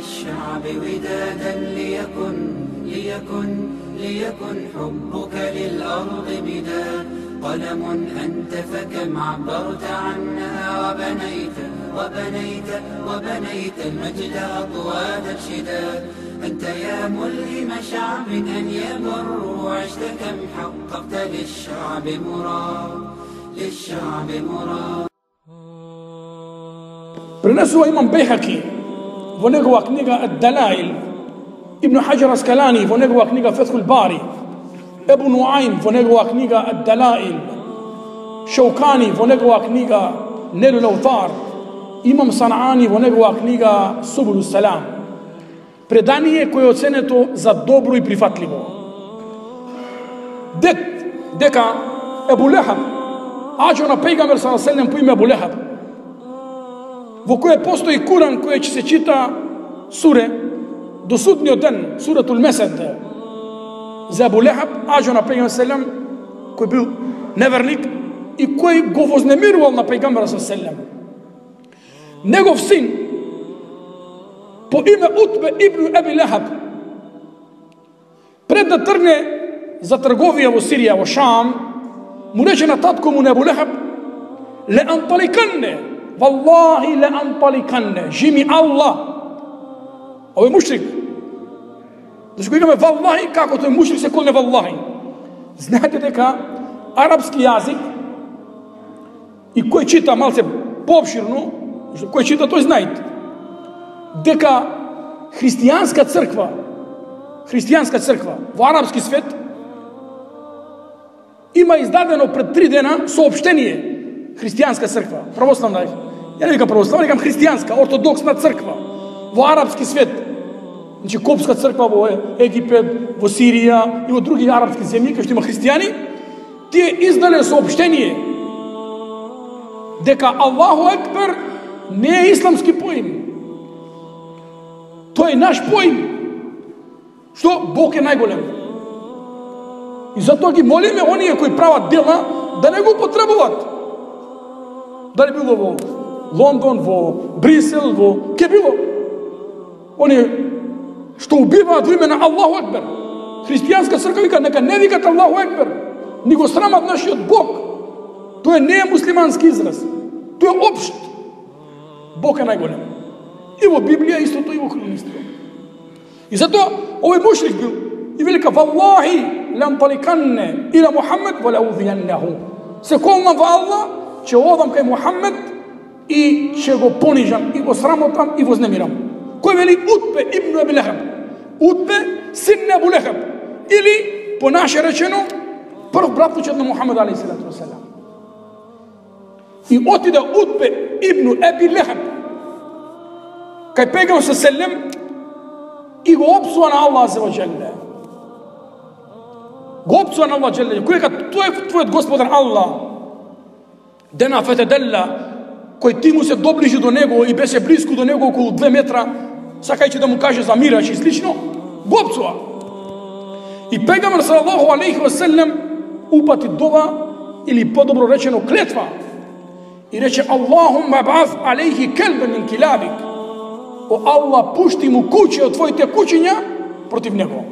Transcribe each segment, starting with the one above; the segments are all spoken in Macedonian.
للشعب ودادا ليكن حبك للأرض بداد. قلم أنت فكم عبرت عنها وبنيت المجد أطواد الشداد. أنت يا ملهم شعب أن يبر وعشت كم حققت للشعب مراد. Пренесува имам Бейхаки во негова книга Ад-Далаил, Ибн Хаджар Аскалани во негова книга Фетхул Бари, Ебу Нуаим во негова книга Ад-Далаил, Шаукани во негова книга Нелул Аутар, имам Санаани во негова книга Субулу Салам. Предание кое е оценето за добро и прифатливо. Дека Ебу Лехаб, аџо на пејгамбер саллаллаху алейхи ва салем по име Ебу Лехаб, во кое постои Куран кој ќе се чита суре до судниот ден, суратул Месед, за Ебу Лехаб, аџо на пејгамбер саллаллаху алейхи ва салем, кој бил неверник и кој го вознемирувал на пејгамбера саллаллаху алейхи ва салем. Негов син по име Утбе ибн Еби Лехаб, пред да тргне за трговија во Сирија, во Шам, му рече на татко му на Ебу Лехаб: ле анталиканне, валлахи ле анталиканне, жими Аллах. Овој мушрик, зашто имаме валлахи, како тој мушрик се колне валлахи. Знаете дека арапски јазик, и кој чита малце пообширно, кој чита тој знаете, дека христијанска црква во арапски свет има издадено пред 3 дена соопштение. Христијанска црква, православна, ја не викам православна, викам христијанска, ортодоксна црква во арапски свет. Значи Копска црква во Египет, во Сирија и во други арапски земји кај што има христијани, тие издале соопштение дека Аллаху Екбер не е исламски поим. Тој е наш поим. Што? Бог е најголем. И затоа ги молиме оние кои прават дела да не го потребуваат. Дали било во Лондон, во Брисел, во ке било. Оние што убиваат во име на Аллаху Екбер. Христијанска црква вика нека не викат Аллаху Екбер, ни го срамат нашиот Бог. Тоа не е муслимански израз. Тоа е општ. Бог е најголем. И во Библија истото, и во хронистика. И затоа овој мушрик бил и велика: валлахи ланталиканне ила Мухаммед ва лаудијаннаху. Се колнам во Аллах, ќе одам кај Мухаммед и ќе го понижам, и го срамотам, и вознемирам. Кој вели? Утбе ибн Еби Лехаб. Утбе син на Ебу Лехаб. Или, по наше речено, прв братучет на Мухаммед алейхиссалату вассалам. И отиде Утбе ибн Еби Лехаб кај пејгамбер саллаллаху и го опсува на Аллах азza ва џелле. Го опсува на Аллах џелле. Кој дека тој е твојот господар Аллах. Дена фетеделла, кој ти му се доближи до него и беше близко до него околу 2 метра, сакајќи да му каже за мираж и слично, го опсува. И пејгамбер салаллаху алейхи ва саллем упати дова, или подобро речено клетва, и рече: Аллахумма баъс алейхи келбен мин килабик. О Аллах, пушти му куќе од твоите куќиња против него.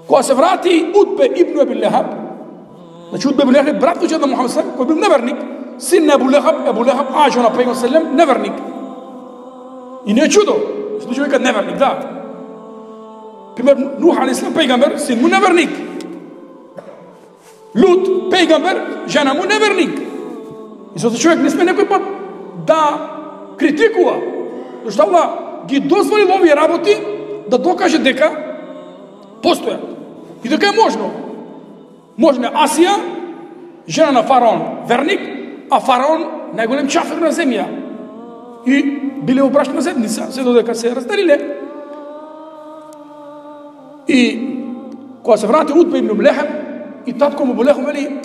Кога се врати Утбе ибн Еби Лехаб, значи Утбе ибн Лехаб братучет на Мухамед саллаллаху алейхи ва саллем, кој бил неверник, син на Ебу Лехаб, аџо на пејгамбер саллаллаху алейхи ва саллем, неверник. И не е чудо, случај вика неверник, да. Пример, Нух алейхи салам пејгамбер, син му неверник. Лут пејгамбер, жена му неверник. И затоа човек не сме некој пат да критикува, зашто Аллах ги дозволил овие работи да докаже дека постојат и дека е можно. Можно е Асија, жена на фараон, верник, а фараон најголем чафер на земја. И биле во брачна заедница, се додека се разделиле. И кога се врати Утбе ибн Лехаб, и татко му Ебу Лехаб вели: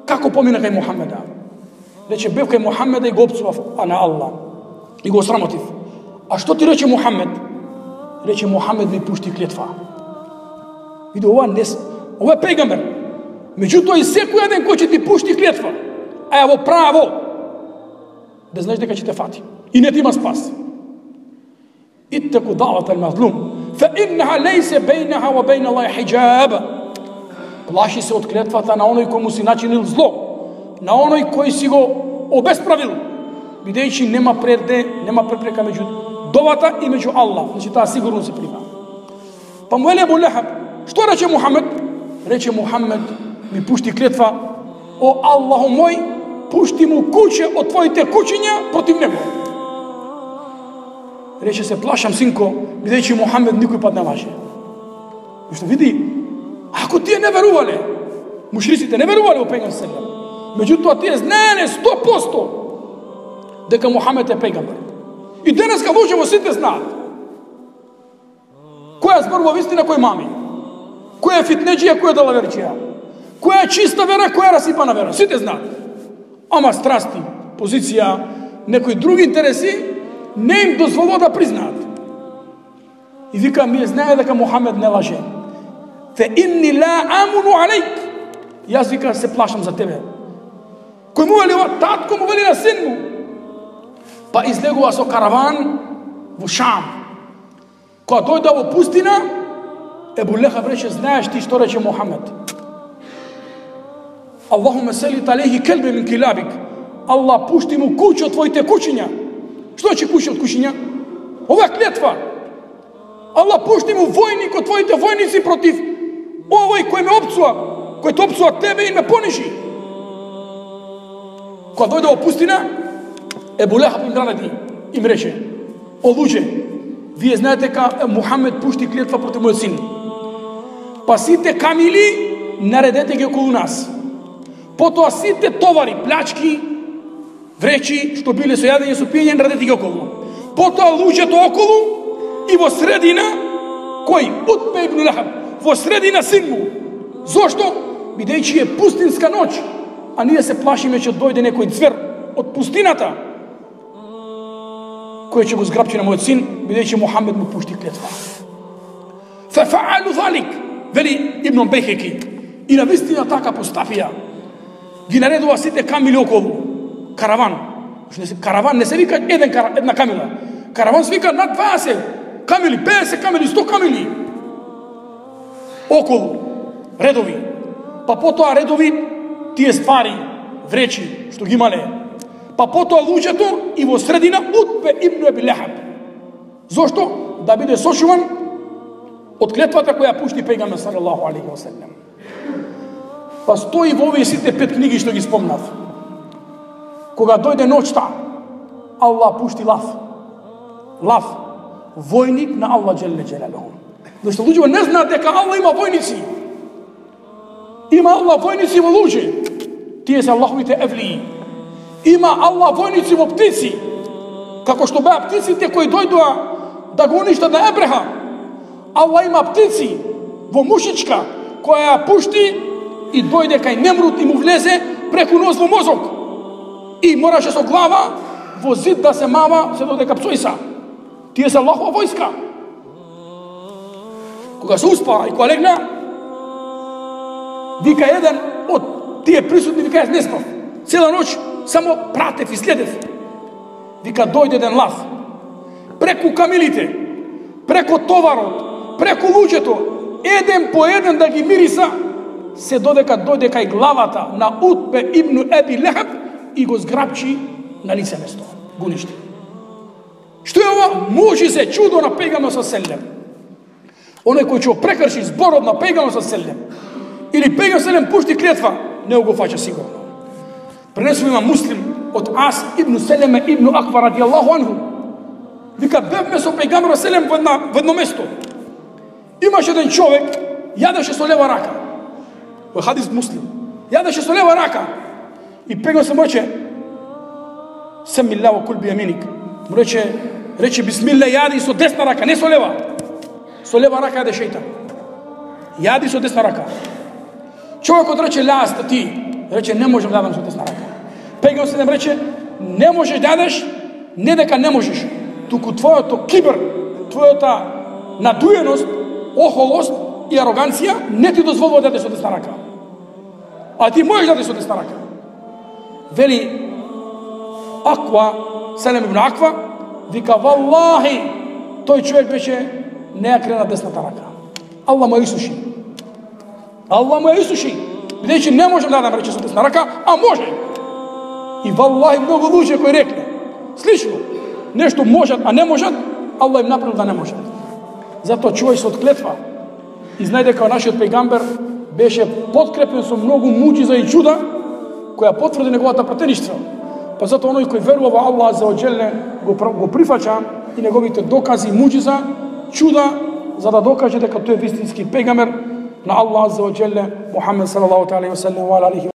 како помина кај Мухаммеда? Рече: бев кај Мухаммеда и го опсував на Аллах и го срамотив. А што ти рече Мухаммед? Рече: Мухаммед ми пушти клетва. Види, ова е пејгамбер. Меѓутоа и секој ден кој ќе ти пушти клетва, а ја во право, да знаеш дека ќе те фати и не ти има спас. ittaqu da'wat al-mazlum fa innaha laysa bainaha wa bayna Allahi hijab. Плаши се од клетвата на оној кој му си начинил зло, на оној кој си го обесправил, бидејќи нема препрека меѓу довата и меѓу Аллах. Значи таа сигурно се прима. Па му вели Абу Лехаб, што рече Мухамед? Рече Мухамед, ми пушти клетва, о Аллаху мој, пушти му куќе од твоите куќиња против него. Рече се плашам синко, бидејќи Мухамед никој пат не лаже. Што види, ако тие не верувале, мушриците не верувале во пејгамбер селем, меѓутоа тие знаеле 100% дека Мухамед е пејгамбер. И денеска луѓе сите знаат која зборува вистина, кој мами, која е фитнеџија, која е далаверчија, која е чиста вера, која е расипана вера. Сите знаат. Ама страсти, позиција, некои други интереси не им дозволува да признаат. И вика, ми знае дека Мухамед не лаже. Фе инни ла амуну алейк. Јас вика се плашам за тебе. Кој му вели, татко му вели на син му. Па излегува со караван во Шам. Кога дојде во пустина, Ебу Лехаб рече, знаеш ти што рече Мухамед? Аллахуме селит алейхи келбе мин килабик. Аллах пушти му куќи од твоите куќиња. Што ќе куќи од куќиња? Ова клетва. Аллах пушти му војник од твоите војници против овој кој ме опцува, кој те опцува тебе и ме понижи. Кога дојде во пустина, Ебу Лехаб им нареди, им рече, о луѓе, вие знаете дека Мухамед пушти клетва против мојот син. Па сите камили наредете ги околу нас. Потоа сите товари, плячки, вречи, што биле со јадење, со пиење, наредете ги околу. Потоа луѓето околу и во средина, кој? Утбе ибн Лехаб, во средина син му. Зошто? Бидејќи е пустинска ноќ, а ние се плашиме че дојде некој ѕвер од пустината, кој ќе го зграпчи на мојот син, бидејќи Мухамед му пушти клетва. Фафаалу залик, вели Ибн Бейхеки, и навистина така постапија. Ги наредува сите камили околу. Караван. Караван не се вика една камила. Караван се вика над 20 камили, 50 камили, 100 камили. Околу. Редови. Па потоа редови тие ствари, вречи, што ги имале. Па потоа луѓето и во средина Утбе ибн Аби Лехаб. Зошто? Да биде сочуван од клетвата која пушти пејгамбер салаллаху алейхи ва селем. Па стои во овие сите 5 книги што ги спомнав. Кога дојде ноќта, Аллах пушти лав. Лав, војник на Аллах джелле джелалуху. Зашто луѓето не знаат дека Аллах има војници. Има Аллах војници во луѓе. Тие се Аллаховите евлии. Има Аллах војници во птици. Како што беа птиците кои дојдоа да го уништат на Ебреха. Аллах има птици во мушичка која ја пушти и дојде кај Немрут и му влезе преку нос во мозок. И мораше со глава во зид да се мава се додека псојса. Тие се Аллахова војска. Кога се успа и кога легна, вика еден од тие присутни, вика јас не спав. Цела ноќ само пратев и следев. Вика дојде еден лав. Преку камилите, преку товарот, преку луѓето, еден по еден да ги мириса, се додека дојде кај главата на Утбе ибн Аби Лехаб и го зграпчи на лице место. Го ништи. Што е ова? Може се чудо на пејгамбер со селем. Оној кој ќе прекрши зборот на пејгамбер со селем или пејгамбер селем пушти клетва, не го фаќа сигурно. Пренесува има Муслим од Ас ибн Селеме ибн Аква радијаллаху анху. Вика, бевме со пејгамбер селем во едно место. Имаше еден човек, јадеше со лева рака. Во хадис Муслим. Јадеше со лева рака. И пејгамбер се му рече, Семилла во кул бијаминик. Му рече бисмилла, јади со десна рака, не со лева. Со лева рака јаде шејтан. Јади со десна рака. Човекот рече, ляста ти. Рече, не можем да јадам со десна рака. Пејгамбер се рече, не можеш да јадеш, не дека не можеш, туку твојото кибр, твојата надуеност, охолост и ароганција не ти дозволува да јадеш со десна рака. А ти можеш да јадеш со десна рака. Вели Аква, Селем ибн Аква, вика, валлахи, тој човек беше не ја крена десната рака. Аллах му ја исуши. Аллах му ја исуши. Бидејќи не можем да рече со десна рака, а може. И валлахи многу луѓе кои рекле слично, нешто можат, а не можат, Аллах им направил да не можат. Затоа чувај се од клетва. И знај дека нашиот пејгамбер беше подкрепен со многу муџиза и чуда, која потврди неговата пратеништво. Па затоа оној кој верува во Аллах за оџелне го прифаќа и неговите докази, муџиза, чуда, за да докаже дека тој е вистински пејгамбер на Аллах за оџелне Мухамед салаллаху алейхи ва саллем ва алейхи